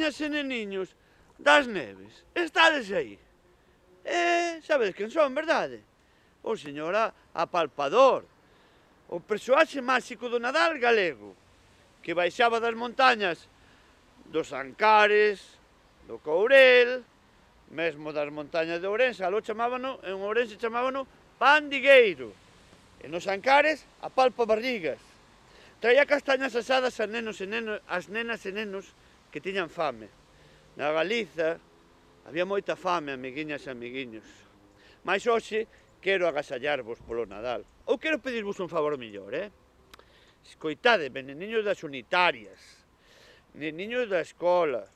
neniñas e neniños das Neves, estades aí. Sabedes quen son, verdade? O señor Apalpador, o persoaxe máxico do Nadal galego, que baixaba das montañas dos Ancares, do Courel, mesmo das montañas de Ourense, aló chamábano, en Ourense chamábano Pandigueiro, e nos Ancares Apalpabarrigas. Traía castañas asadas as nenas e nenos que tiñan fame. Na Galiza había moita fame, amiguiñas e amiguiños. Mais hoxe quero agasallarvos polo Nadal. Ou quero pedirvos un favor millor, Escoitademe, neniños das unitarias, neniños da escola,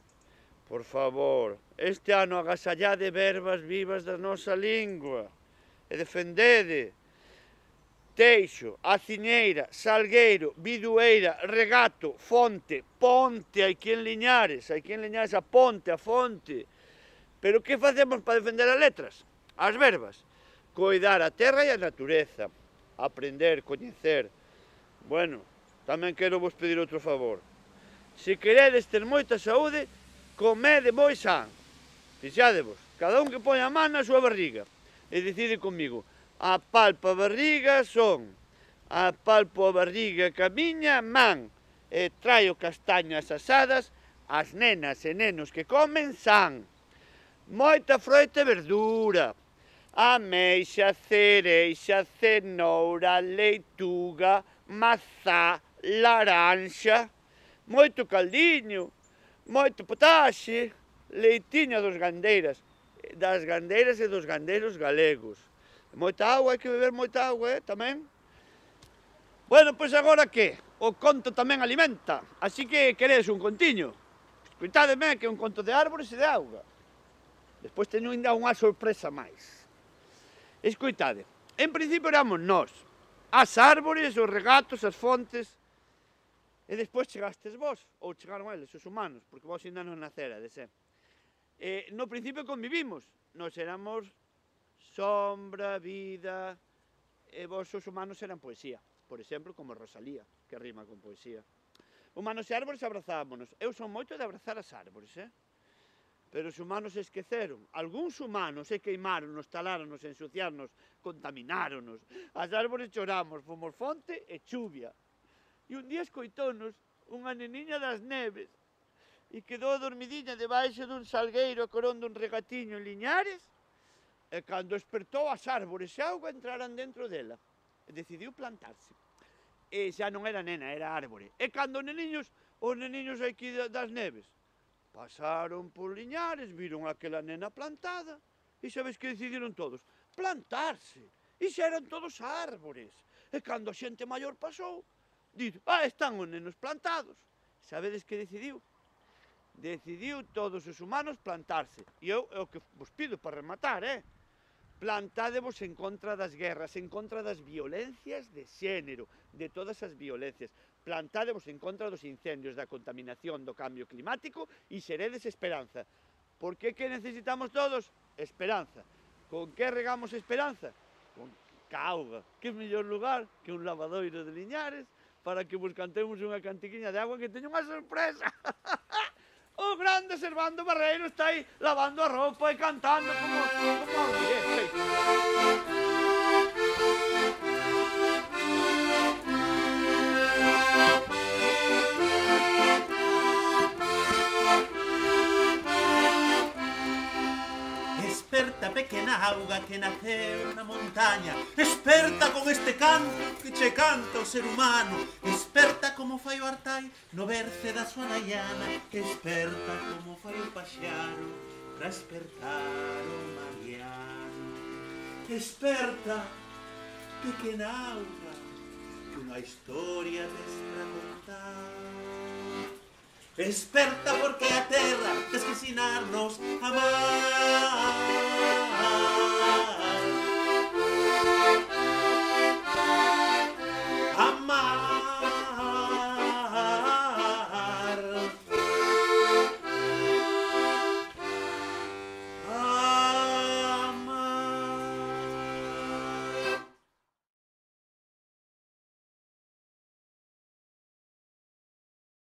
por favor, este ano agasallade verbas vivas da nosa lingua e defendede Teixo, Aciñeira, Salgueiro, Bidueira, Regato, Fonte, Ponte, aquí en Liñares a Ponte, a Fonte. Pero que facemos para defender as letras? As verbas. Coidar a terra e a natureza, aprender, coñecer. Bueno, tamén quero vos pedir outro favor. Se queredes ter moita saúde, comede moi san. Fixadevos, cada un que poña a man na súa barriga. E decide comigo, apalpo a barriga son, apalpo a barriga ca miña man, e traio castañas asadas, as nenas e nenos que comen san. Moita froita e verdura, ameixa, cereixa, cenoura, leituga, mazá, laranxa, moito caldiño, moito potaxe, leitiña das gandeiras e dos gandeiros galegos. Moita auga, hai que beber moita auga, tamén. Bueno, pois agora que? O conto tamén alimenta, así que queredes un contiño. Escoitádeme que é un conto de árbores e de auga. Despois teño ainda unha sorpresa máis. Escoitade, en principio éramos nós, as árbores, os regatos, as fontes, e despois chegastes vos, ou chegaron eles, os humanos, porque vos ainda non nacerades, No principio convivimos, nós éramos sombra, vida, e vos os humanos eran poesía, por exemplo, como Rosalía, que rima con poesía. Humanos e árbores abrazámonos, eu son moito de abrazar as árbores, Pero os humanos esqueceron, algúns humanos queimáronos, taláronos, ensuciáronos, contamináronos. As árbores choramos, fomos fonte e chuvia. E un día escoitónos unha neniña das Neves e quedou dormidiña debaixo dun salgueiro a corón dun regatiño en Liñares e cando despertou as árbores e a auga entraran dentro dela e decidiu plantarse. E xa non era nena, era árbore. E cando os neniños aquí das Neves pasaron por Liñares, viron aquela nena plantada e sabes que decidiron todos? Plantarse. E xa eran todos árbores. E cando a xente maior pasou, dito, están os nenos plantados. Sabedes que decidiu? Decidiu todos os humanos plantarse. E eu é o que vos pido para rematar, Plantádevos en contra das guerras, en contra das violencias de xénero, de todas as violencias. Plantádevos en contra dos incendios, da contaminación, do cambio climático e seredes esperanza. Por que necesitamos todos? Esperanza. Con que regamos esperanza? Con auga. Que mellor lugar que un lavadoiro de Liñares para que vos cantemos unha cantiquiña de agua que teño unha sorpresa. O grande Servando Barreiro está aí lavando a roupa e cantando como Desperta, pequena auga que naceu na montaña, desperta con este canto que che canta o ser humano, desperta como fai o artai no berce da súa naiana, desperta como fai o paxaro pra despertar o mariano. Desperta, pequena auga, que unha historia tes pra contar. Desperta porque a terra tes que ensinarnos a amar.